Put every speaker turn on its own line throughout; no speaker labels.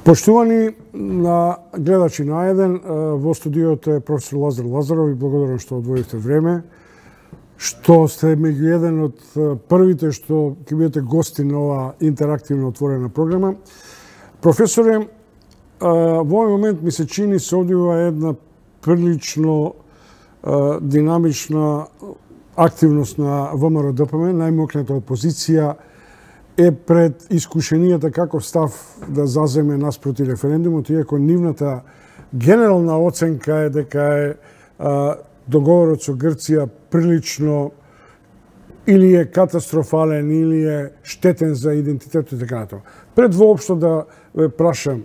Поштувани на гледачи на Еден, во студиото е професор Лазар Лазаров и благодарам што одвоивте време, што сте меѓу еден од првите што ќе бидете гости на ова интерактивно отворена програма. Професоре, во овој момент ми се чини се одвива една прилично динамична активност на ВМРО-ДПМ, најмокната опозиција е пред искушенијата каков став да заземе наспроти референдумот, иако нивната генерална оценка е дека е договорот со Грција прилично или е катастрофален, или е штетен за идентитетот и така натаму. Пред воопшто да ве прашам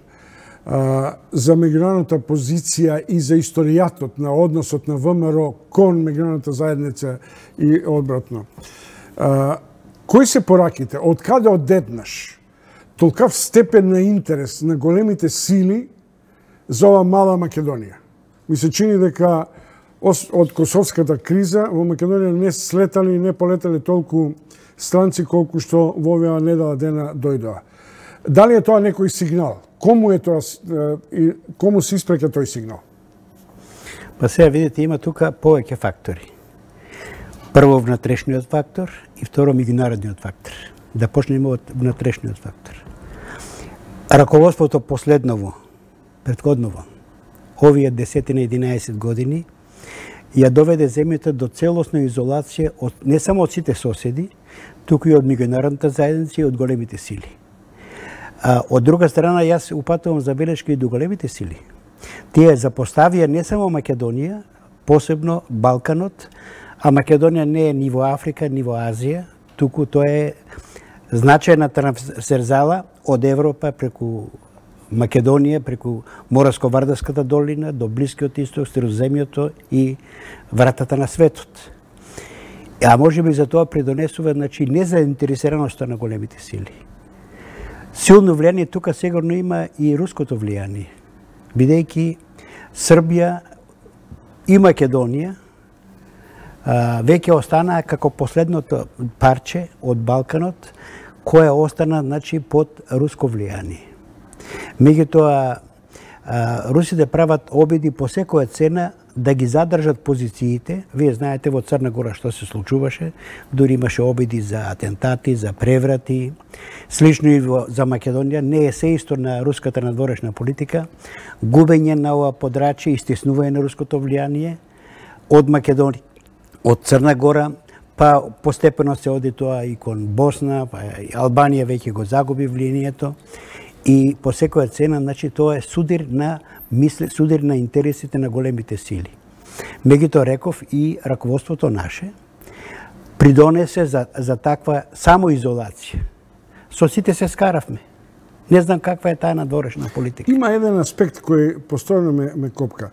за меѓународната позиција и за историјатот на односот на ВМРО кон меѓународната заедница и обратно. Кои се пораките? Од каде одеднаш толкав степен на интерес на големите сили за ова мала Македонија? Ми се чини дека од косовската криза во Македонија не слетали и не полетали толку странци колку што во оваа недела дена дојдоа. Дали е тоа некој сигнал? Кому е тоа и кому се испреќа тој сигнал?
Па сега видите, има тука повеќе фактори. Прво внатрешниот фактор и второ меѓународниот фактор. Да почнеме од внатрешниот фактор. Раководството последново, претходново, овие 10-11 години, ја доведе земјата до целосна изолација од не само од сите соседи, туку и од меѓународната заедница и од големите сили. Од друга страна, јас упатувам забелешки и до големите сили. Тие запоставија не само Македонија, посебно Балканот, а Македонија не е ни во Африка, ни во Азија, туку тоа е значајна трансверзала од Европа преку Македонија, преку Моравско-Вардарската долина, до Блискиот исток, Средоземјото и вратата на светот. А може би за тоа придонесува, значи, незаинтересираноста на големите сили. Силно влијание тука сигурно има и руското влијание, бидејќи Србија и Македонија веќе останаа како последното парче од Балканот, кое остана, значи, под руско влијание. Меѓутоа, русите прават обиди по секоја цена да ги задржат позициите. Вие знаете во Црна Гора што се случуваше, дури имаше обиди за атентати, за преврати. Слично и за Македонија, не е се исто на руската надворешна политика, губење на ова подрачје и стеснување на руското влијание од Македонија, од Црна Гора, па постепено се оди тоа и кон Босна, па Албанија веќе го загуби влијанието. И по секоја цена, значи, тоа е судир на интересите на големите сили. Меѓутоа, реков, и раководството наше придонесе за таква самоизолација. Со сите се скаравме. Не знам каква е таа надворешна политика.
Има еден аспект кој постојано ме копка.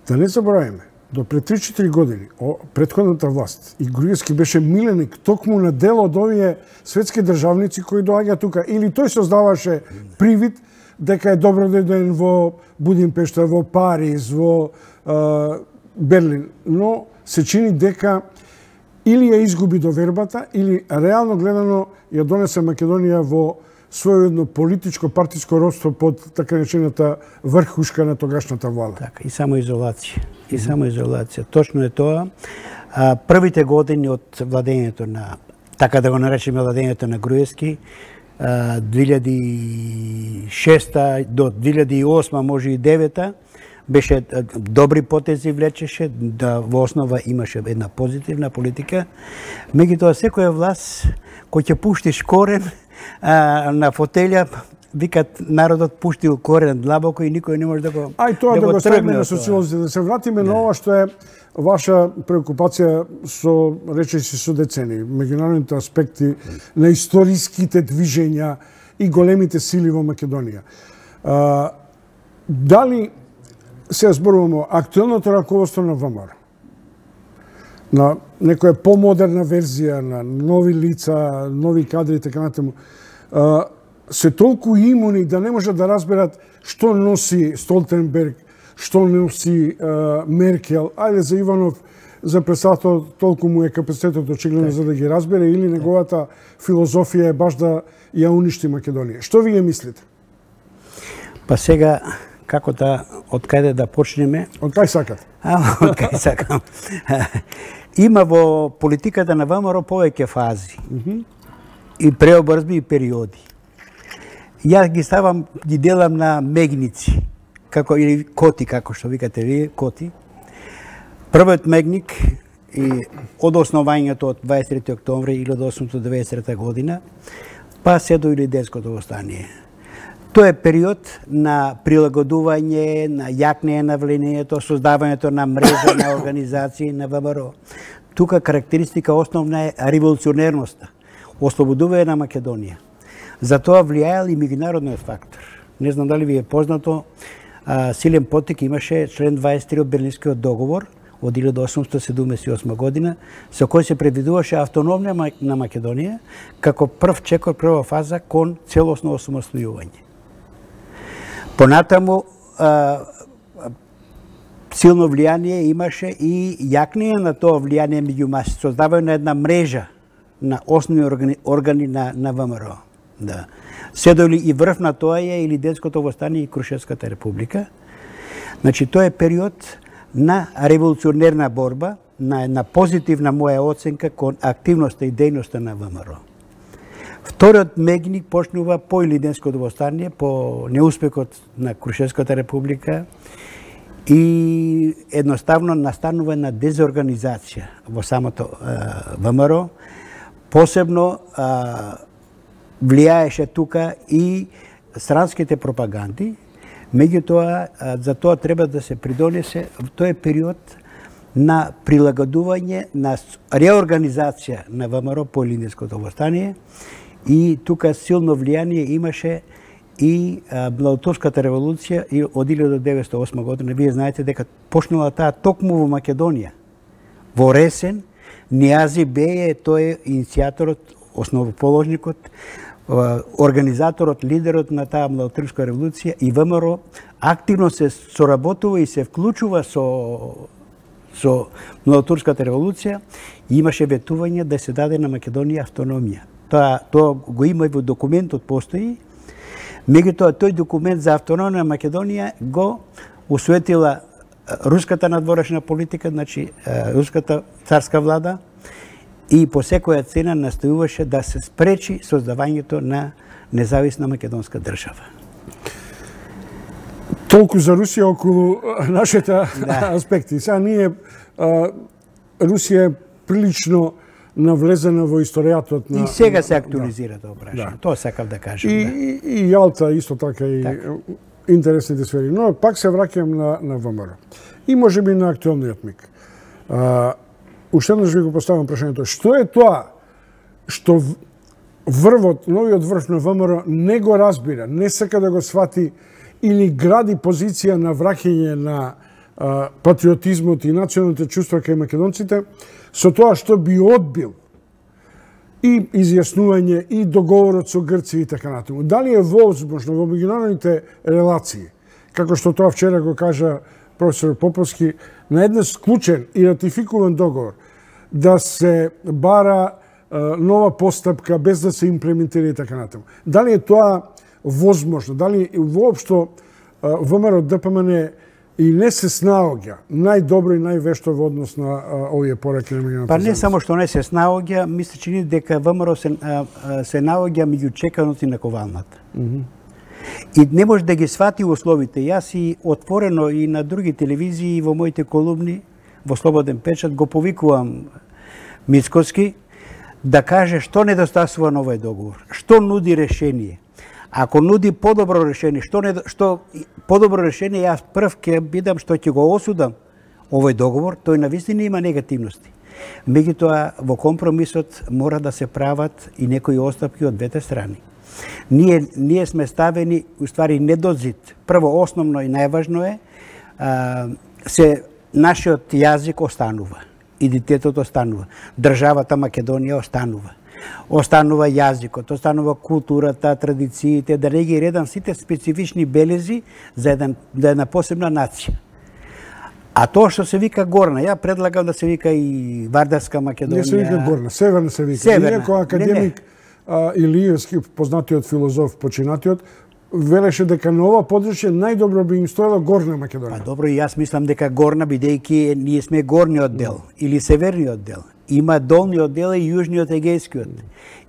Да не забораваме, до пред 3-4 години, претходната власт и Груевски беше миленик токму на дел од овие светски државници кои доаѓа тука. Или тој создаваше привид дека е добро да дојден во Будимпешта, во Париз, во Берлин. Но се чини дека или ја изгуби довербата, или реално гледано ја донесе Македонија во своједно политичко партиско родство под така речената врхушка на тогашната влада.
Така, и само изолација. И само изолација. Точно е тоа. Првите години од владењето на, така да го наречеме, владењето на Груевски, 2006 до 2008, може и 2009, беше добри потези влечеше, да во основа имаше една позитивна политика. Меѓутоа, секоја власт кој ќе пуштиш корен на фотелја, викат народот пуштил корен длабоко и никој не може да го
Ај тоа да го ставиме на социолозите, да се вратиме на ова што е ваша преокупација со, речеси, со децени, меѓународните аспекти на историските движења и големите сили во Македонија. Дали се зборуваме актуелното раководство на ВМРО, на некоја помодерна верзија, на нови лица, нови кадри и така натаму, се толку имуни да не можат да разберат што носи Столтенберг, што носи Меркел. Ајде за Иванов, за председател, толку му е капацитетот очигледно за да ги разбере, или неговата филозофија е баш да ја уништи Македонија. Што вие мислите?
Па сега, како од каде да почнеме?
Од кај сакат?
Од кај сакам. Има во политиката на ВМРО повеќе фази. И преобразби и периоди. Јас ги делам на мегници, или коти, како што викате вие, коти. Првиот мегник и од основањето од 23 октомври 1893 година, па се до Илинденското востание. Тоа е период на прилагодување, на јакнење на влијанието, создавањето на мрежа на организации на ВМРО. Тука карактеристика основна е револуционерноста, ослободување на Македонија. За тоа влијаел и меѓународниот фактор. Не знам дали ви е познато, силен поттик имаше член 23 од Берлинскиот договор од 1878 година, со кој се предвидуваше автономија на Македонија како прв чекор, прва фаза кон целосно осамостојување. Понатаму силно влијание имаше и јакнење на тоа влијание меѓу масите, создавање на една мрежа на основни органи на ВМРО. Да. Седоли и врв на тоа е Илинденското востание и Крушевската република. Значи, тоа е период на револуционерна борба, на една позитивна моја оценка кон активноста и дејноста на ВМРО. Вториот мегник почнува по Илинденското востание, по неуспехот на Крушевската република и едноставно настанува на дезорганизација во самото ВМРО. Посебно влијаеше тука и странските пропаганди. Меѓутоа, за тоа треба да се придонесе, тој е период на прилагодување, на реорганизација на ВМРО по Илинденското востание и тука силно влијание имаше и Младотурската револуција од 1908 година. Вие знаете дека почнала таа токму во Македонија. Во Ресен, Нијази Беј тој е иницијаторот, основоположникот, организаторот, лидерот на таа Младотурска револуција и ВМРО активно се соработува и се вклучува со Младотурската револуција и имаше ветување да се даде на Македонија автономија. Тоа го има и во документот постои. Меѓутоа, тој документ за автономија на Македонија го усвоетила руската надворешна политика, значи руската царска влада, и по секоја цена настојуваше да се спречи создавањето на независна македонска држава.
Толку за Русија околу нашите аспекти. Сега ние, Русија е прилично навлезена во историјатот на...
И сега се актуализира тоа прашање. Тоа сакав да кажам.
И Јалта исто така и интересните сфери. Но пак се враќам на ВМРО. И можеби на актуелниот миг. Уште еднаш ви го поставам прашањето. Што е тоа што врвот, новиот врв на ВМРО не го разбира, не сака да го свати или гради позиција на враќање на патриотизмот и националните чувства кај македонците, со тоа што би одбил и изјаснување и договорот со Грција и така натаму. Дали е возможно во меѓународните релации, како што тоа вчера го кажа професор Поповски, на еден склучен и ратификуван договор да се бара нова постапка без да се имплементира и така натаму. Дали е тоа возможно? Дали воопшто ВМРО ДПМН и не се снаоѓа најдобро и највешто во однос на овие пораки на меѓународната
Па не само што не се снаоѓа, ми се чини дека ВМРО се наоѓа меѓу чеканоци на ковалната. И не може да ги свати условите. Јас и отворено и на други телевизии и во моите колумни во Слободен печат го повикувам Мицкоски да каже што недостасува на овој договор, што нуди решение. Ако нуди подобро решение, што подобро решение, јас прв ќе бидам што ќе го осудам овој договор, тој навистина има негативности. Меѓутоа во компромисот мора да се прават и некои отстапки од двете страни. Ние сме ставени, уствари, недозид. Прво, основно и најважно е, нашиот јазик останува, идентитетот останува, државата Македонија останува. Останува јазикот, останува културата, традициите, да не ги редам сите специфични белези за една посебна нација. А тоа што се вика Горна, ја предлагам да се вика и Вардарска Македонија.
Не се вика Горна, Северна се вика. Иако академик Илиевски, познатиот филозоф, починатиот, велеше дека на ова подручје најдобро би им стоела Горна Македонија.
Па добро, и јас мислам дека Горна, бидејќи ние сме горниот дел или северниот дел. Има долниот дел и јужниот егејскиот.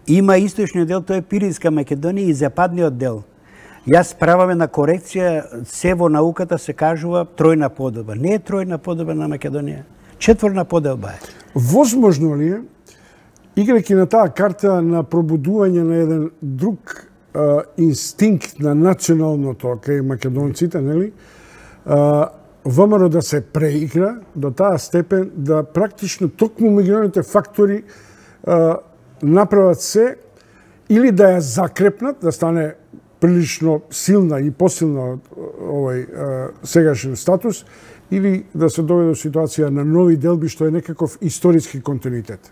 Има источниот дел, тоа е Пиринска Македонија и западниот дел. Јас праваме на корекција, се во науката се кажува тројна поделба. Не е тројна поделба на Македонија, четворна поделба е.
Возможно ли е, играјќи на таа карта на пробудување на еден друг инстинкт на националното кај македонците, нели? ВМРО да се преигра до таа степен да практично токму меѓународните фактори направат се или да ја закрепнат, да стане прилично силна и посилна од овој сегашен статус, или да се доведе до ситуација на нови делби, што е некаков историски континуитет?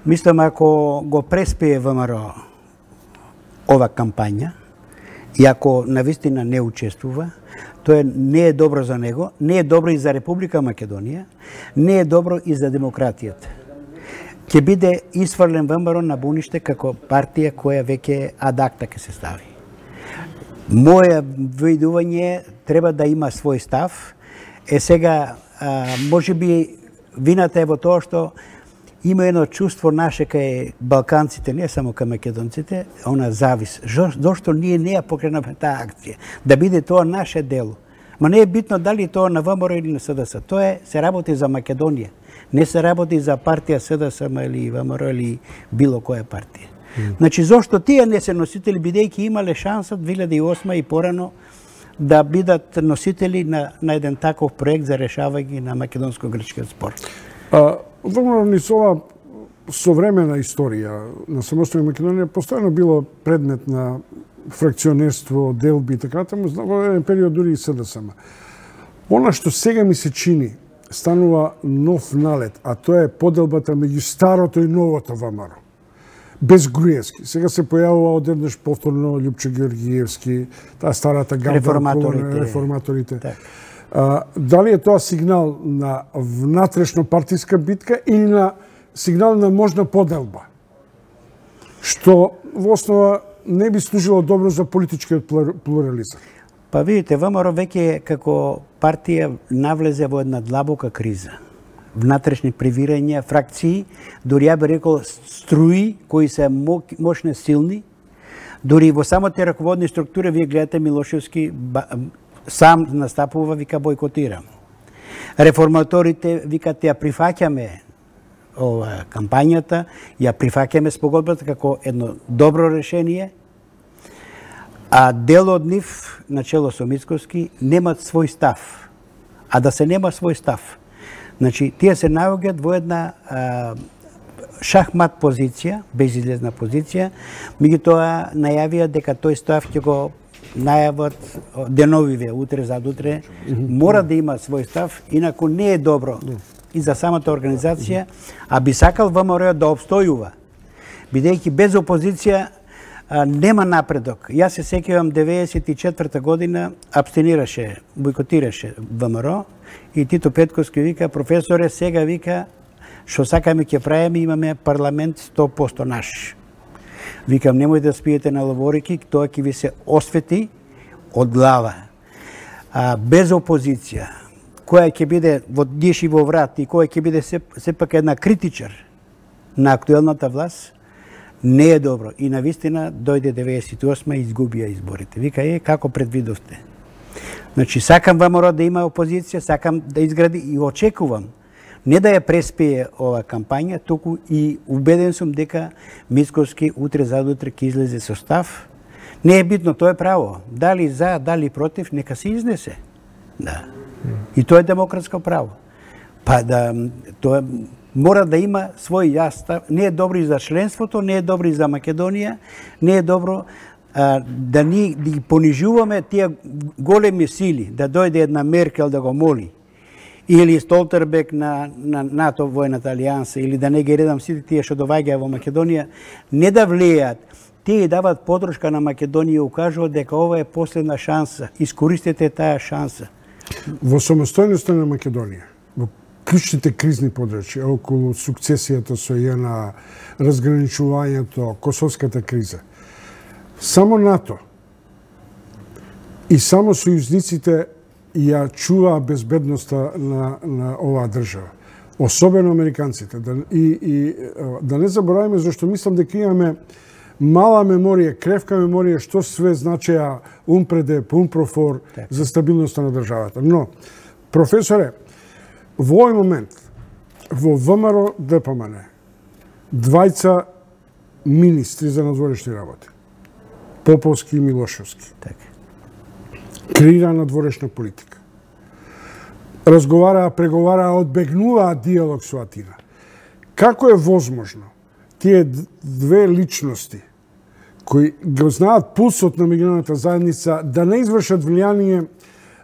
Мислам, ако го преспее ВМРО ова кампања, и ако навистина не учествува, тоа не е добро за него, не е добро и за Република Македонија, не е добро и за демократијата. Ќе биде исфрлен ВМРО на буниште како партија која веќе адакта ќе се стави. Моја видување треба да има свој став. Сега, може би, вината е во тоа што има едно чувство наше кај балканците, не само кај македонците, она завис. Зошто ние не ја покренаме таа акција? Да биде тоа наше дело. Ма не е битно дали тоа на ВМРО или на СДС. Тоа се работи за Македонија. Не се работи за партија СДСМ или ВМРО или било која партија. Значи, зошто тие не се носители, бидејќи имале шанса 2008 и порано да бидат носители на еден таков проект за решавање на македонско-грчкиот спор?
ВМРО низ ова современа историја на самостојна Македонија постојано било предмет на фракционерство, делби и така натаму, во еден период дури и СДСМ. Она што сега ми се чини станува нов налет, а тоа е поделбата меѓу старото и новото ВМРО. Без Груевски. Сега се појавува одеднаш повторно Љупчо Георгиевски, таа старата гамба, реформаторите. Дали е тоа сигнал на внатрешно партиска битка или на сигнал на можна поделба? Што во основа не би служило добро за политичкиот плурализам.
Па видите, ВМРО веќе како партија навлезе во една длабока криза. Внатрешни привирања, фракции, дури ја би рекол струи кои се мощни, силни. Дури во самите раководни структури вие гледате Милошевски сам настапува, вика бойкотирам. Реформаторите викат ја прифаќаме кампањата, ја прифаќаме спогодбата како едно добро решение, а дел од нив, начело со Мицкоски, немат свој став. А да се нема свој став, значи, тие се наоѓаат во една шахмат позиција, безизлезна позиција, меѓутоа најавија дека тој став ќе го најават деновиве, утре, задутре, мора да има свој став, инаку не е добро и за самата организација, а би сакал ВМРО да обстојува, бидејќи без опозиција нема напредок. Јас се сеќавам 94 година абстинираше, бойкотираше ВМРО и Тито Петковски вика, професоре, сега вика, што сакаме ќе правиме, имаме парламент 100% наш. Викам, немој да спиете на ловорики, тоа ќе ви се освети од глава. Без опозиција, која ќе биде во диш и во врат и која ќе биде сепак една критичар на актуелната власт, не е добро. И навистина дојде 98 и изгубија изборите. Вика, како предвидовте? Значи, сакам ВМРО да има опозиција, сакам да изгради и очекувам не да ја преспее ова кампања, туку и убеден сум дека Мицкоски утре задутре ќе излезе со став. Не е битно, тоа е право. Дали за, дали против, нека се изнесе. Да. И тоа е демократско право. Па да, тоа мора да има свој јас став. Не е добро и за членството, не е добро и за Македонија, не е добро да ни понижуваме тие големи сили, да дојде една Меркел да го моли, или Столтербек на НАТО војната алијанса, или да не ги редам сите тие што доаѓаат во Македонија, не да влијаат, тие дават подршка на Македонија и укажуваат дека ова е последна шанса. Искористете таа шанса.
Во самостојноста на Македонија, во клучните кризни подрачја, околу сукцесијата со ЈНА, разграничувањето, косовската криза, само НАТО И само сојузниците ја чуваа безбедноста на оваа држава. Особено американците. Да не забораваме, зашто мислам дека имаме мала меморија, кревка меморија, што све значеа УМПРЕДЕП, УМПРОФОР за стабилноста на државата. Но, професоре, во овој момент, во ВМРО ДПМН, двајца министри за надворешни работи, Поповски и Милошевски, креира надворешна политика. Разговараа, преговараа, одбегнуваа диалог со Атина. Како е возможно тие две личности кои го знаат пулсот на меѓународната заедница да не извршат влијание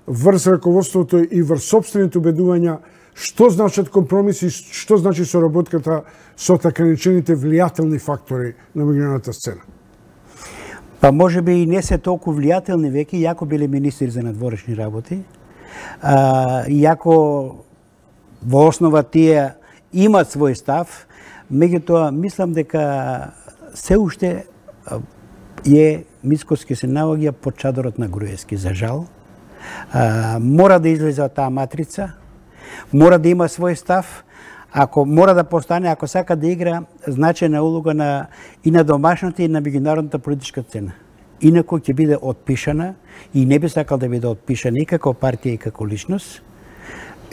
врз раководството и врз собствените убедувања, што значат компромиси, што значи соработката со така наречените влијателни фактори на меѓународната сцена?
Па може би и не се толку влијателни веќе, иако биле министри за надворешни работи, иако во основа тие имат свој став, меѓутоа мислам дека се уште Мицкоски се наоѓа под чадорот на Груевски, за жал. Мора да излезе од таа матрица, мора да има свој став, ако мора да постане, ако сака да игра значајна улога и на домашната и на меѓународната политичка сцена. Инаку ќе биде отпишана и не би сакал да биде отпишана и како партија и како личност.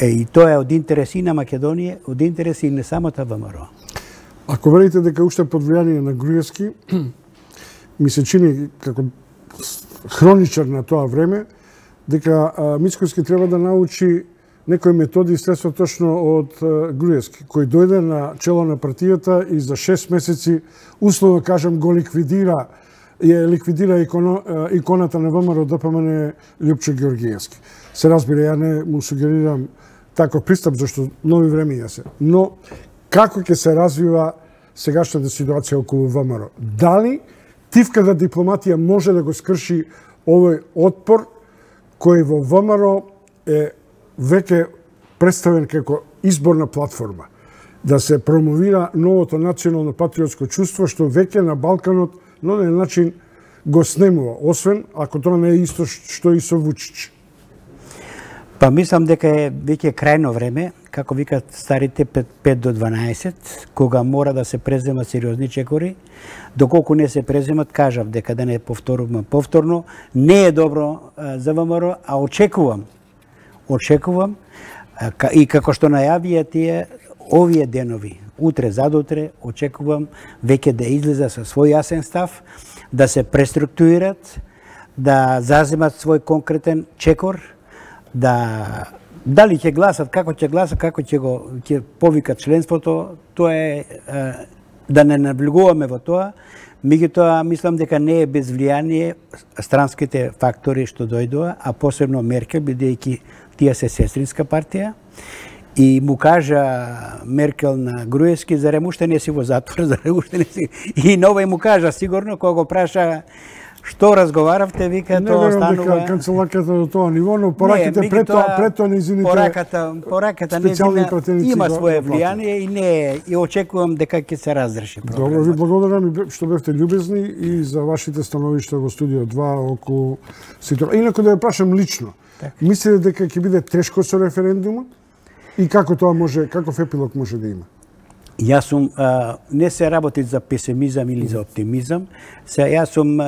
И тоа е од интерес и на Македонија, од интерес и на самата ВМРО.
Ако велите дека уште под влијание на Груевски, ми се чини како хроничар на тоа време, дека Мицкоски треба да научи некои методи и средства точно од Груевски, кој дојде на чело на партијата и за 6 месеци, условно кажам, го ликвидира иконата на ВМРО ДПМН Љупчо Ѓоргиевски. Се разбира, ја не му сугерирам таков пристап, зашто нови времења се. Но, како ќе се развива сегашната ситуација околу ВМРО? Дали тивката дипломатија може да го скрши овој отпор кој во ВМРО е веќе представен како изборна платформа, да се промовира новото национално патриотско чувство, што веќе на Балканот на еден начин го снемува, освен ако тоа не е исто што и со Вучич.
Па мислам дека е веќе крајно време, како викат старите 5 до 12, кога мора да се преземат сериозни чекори. Доколку не се преземат, кажав дека да не повторувам повторно, не е добро за ВМРО, а очекувам и како што најавија тие овие денови, утре, задутре, очекувам веќе да излезе со свој јасен став, да се преструктурират, да заземат свој конкретен чекор, дали ќе гласат, како ќе повикат членството, тоа е да не навлегуваме во тоа. Меѓутоа, мислам дека не е без влијание странските фактори што дојдоа, а посебно Меркел, бидејќи тие се сестринска партија. И му кажа Меркел на Груевски, зарем уште не си во затвор, зарем уште не си... И новој му кажа, сигурно, кога го праша што разговаравте, вика, тоа останува...
Не верам дека канцеларката до тоа ниво, но пораките пред тоа незините
пораката незина има своје влијание и очекувам дека ќе се разреши проблемот.
Добро, ви благодарам што бевте љубезни и за вашите становишта во студио 2 околу ситуација. Инаку да ја прашам лично, мислите дека ќе биде тешко со референдумот и како тоа може, каков епилог може да има?
Јас сум, не се работи за песимизам или за оптимизам, јас сум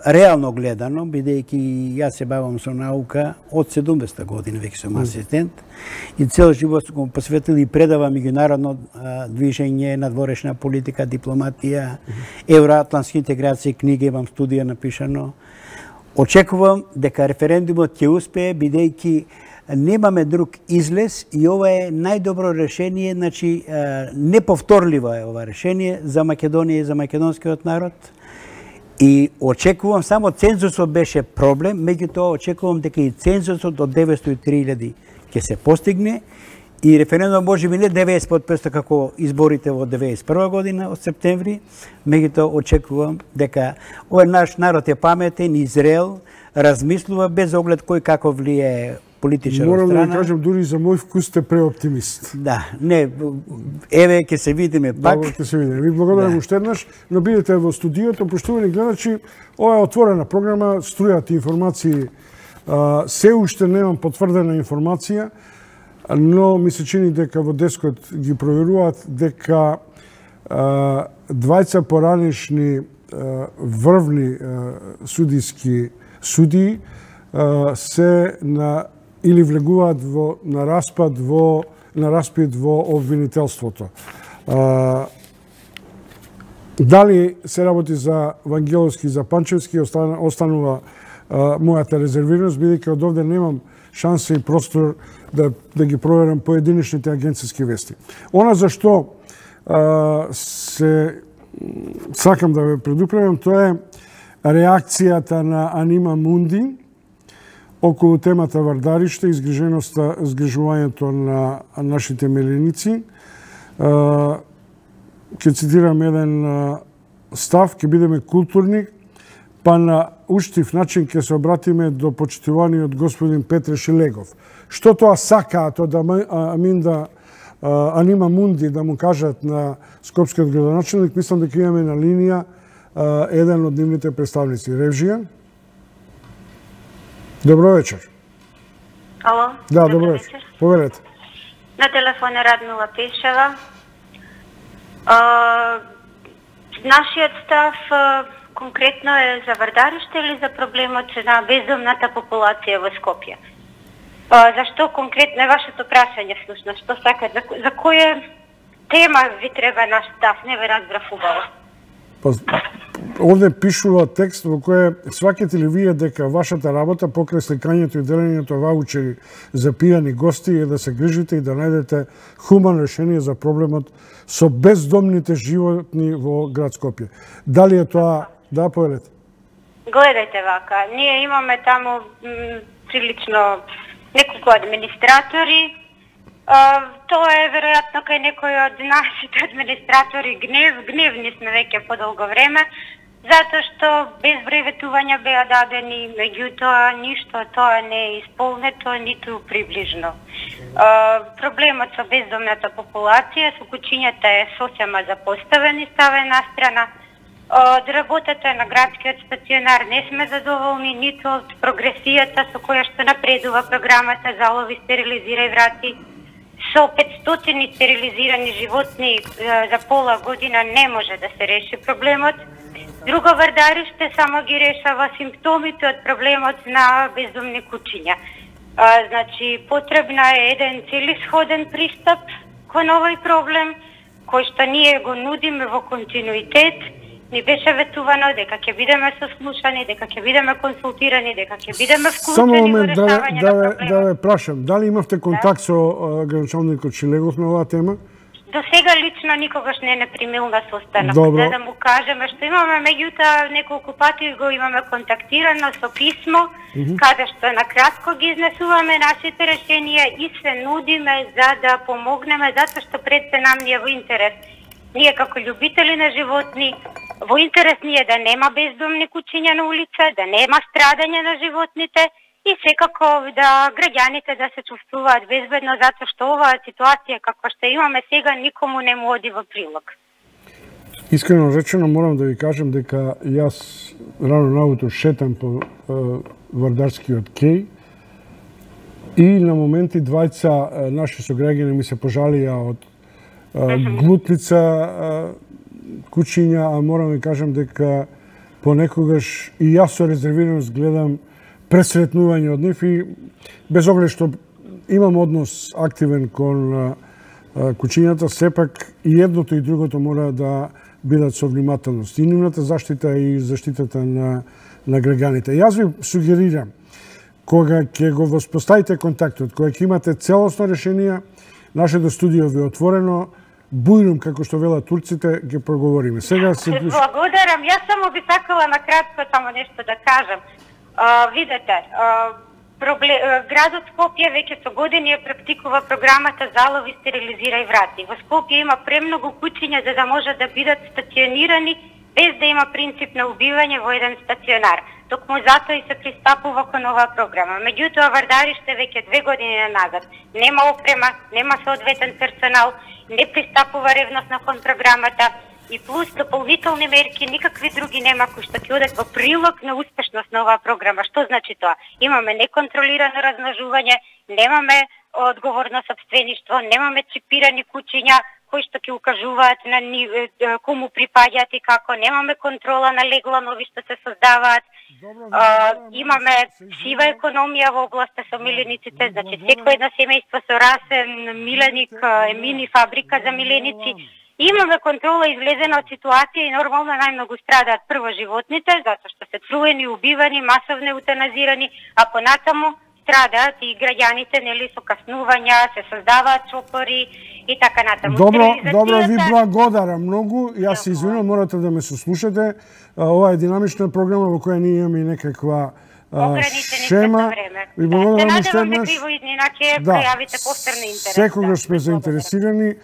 реално гледано, бидејќи јас се бавам со наука од 70-та година, веќе сум асистент, и цел живот сум посветил и предавам меѓународно движење, надворешна политика, дипломатија, евроатлантски интеграција, книги, имам студија напишано. Очекувам дека референдумот ќе успее, бидејќи немаме друг излез и ова е најдобро решение, значи неповторливо е ова решение за Македонија и за македонскиот народ. И очекувам, само цензусот беше проблем, меѓутоа очекувам дека и цензусот од 903.000 ќе се постигне и референдум може би не 90% како изборите во 91 година од септември, меѓутоа очекувам дека овој наш народ е паметен и зрел, размислува без оглед кој како влијае политичар од страна.
Морам да кажам, дури за мој вкус сте преоптимист.
Да, не, еве ќе се видиме пак.
Добро, ќе се видиме. Ви благодарам уште еднаш, но бидете во студиото, поштувани гледачи, ова е отворена програма, струјат информации Се уште немам потврдена информација, но ми се чини дека во Дескот ги проверуваат дека двајца поранешни врвни судиски судии се или влегуваат на распит во обвинителството. Дали се работи за Вангеловски, за Панчевски, останува мојата резервираност, бидејќи од овде немам шанса и простор да ги проверам поединечните агенцијски вести. Она за што се сакам да ве предупредам, тоа е реакцијата на Анима Мунди околу темата Вардариште, изгрижувањето на нашите меленици. Ќе цитирам еден став, ќе бидеме културни, па на уштив начин ќе се обратиме до почитуваниот господин Петре Шилегов. Што тоа сакаат од Анима Мунди да му кажат на скопскиот градоначелник, мислам дека имаме на линија еден од нивните представници. Ревжија? Добро вечер.
Ало?
Да, добро вечер. Повелете.
На телефон е Радмила Пешева. Нашиот став конкретно е за Вардариште или за проблемот на бездомната популација во Скопје? Зашто конкретно е вашето прашање всушност? Што сакате? За која тема ви треба наш став? Не ве разбрав убаво.
Овде пишува текст во кој сваќате ли вие дека вашата работа покрај сликањето и делењето ваучери за пијани гости е да се грижите и да најдете хумано решение за проблемот со бездомните животни во град Скопје. Дали е тоа? Да, повелете.
Гледајте вака, ние имаме таму прилично неколку администратори. Тоа е веројатно кај некој од нашите администратори гневни сме веќе подолго време, затоа што безброј ветувања беа дадени, меѓутоа ништо тоа не е исполнето, ниту приближно. Проблемот со бездомната популација со куќињата е сосема запоставен и ставен на страна. Од работата на градскиот стационар не сме задоволни, ниту од прогресијата со која што напредува програмата Залови, стерилизирај, врати. Со 500 стерилизирани животни за пола година не може да се реши проблемот. Друго Вардариште само ги решава симптомите од проблемот на бездомни куќиња. Значи, потребна е еден целисходен пристап кон овој проблем, кој што ние го нудиме во континуитет. Ни беше ветувано дека ќе бидеме сослушани, дека ќе бидеме консултирани, дека ќе бидеме вклучени во решавање на проблемот.
Да ве прашам, дали имавте контакт со градоначалникот Шилегов на оваа тема?
До сега лично никогаш не примил на состанок. За да му кажеме што имаме, меѓутоа неколку пати го имаме контактирано со писмо, каде што накратко ги изнесуваме нашите решенија и се нудиме за да помогнеме, затоа што пред се нам ни е во интерес. Ние како љубители на животни, во интерес ни е да нема бездомни куќиња на улица, да нема страдање на животните и секако да граѓаните да се чувствуваат безбедно, затоа што оваа ситуација каква што имаме сега никому не му оди во прилог.
Искрено речено морам да ви кажам дека јас рано наутро шетам по Вардарскиот кеј и на моменти двајца наши сограѓани ми се пожалија од глутница куќиња, а морам да кажам дека понекогаш и јас со резервираност гледам пресретнување од нив и без оглед што имам однос активен кон куќињата, сепак и едното и другото мора да бидат со внимателност. И нивната заштита и заштитата на граѓаните. Јас ви сугерирам, кога ќе го воспоставите контактот, кога ќе имате целосно решение, нашето студио ви е отворено, бујрум, како што велат турците, ќе проговориме. Сега се...
Благодарам. Јас само би сакала на кратко само нешто да кажам. Видете, градот Скопје веќе со години практикува програмата Залови, стерилизирај, врати. Во Скопје има премногу куќиња за да може да бидат стационирани без да има принцип на убивање во еден стационар. Токму затоа и се пристапува кон оваа програма. Меѓутоа, Вардариште веќе 2 години назад нема опрема, нема соодветен персонал, не пристапува ревносно кон програмата и плюс дополнителни мерки, никакви други нема кои што ќе одат во прилог на успешност на оваа програма. Што значи тоа? Имаме неконтролирано размножување, немаме одговорно сопствеништво, немаме чипирани куќиња кои што ќе укажуваат на кому припаѓаат и како, немаме контрола на легла нови што се создаваат. Имаме сива економија во областа со милениците, значи секој едно семејство со расен миленик е мини фабрика за миленици. Имаме контрола излезена од ситуација и нормално најмногу страдаат прво животните, затоа што се труени, убивани, масовно еутаназирани, а понатаму страдаат и граѓаните, нели, со каснувања, се создаваат чопори и така натаму.
Добро, ви благодарам многу. Јас се извинувам, морате да ме сослушате. Ова е динамична програма во која ние имаме некаква шема. Ви благодарам уште еднаш.
Се надевам дека и во иднина ќе пројавите повторно интерес.
Секогаш сме заинтересирани.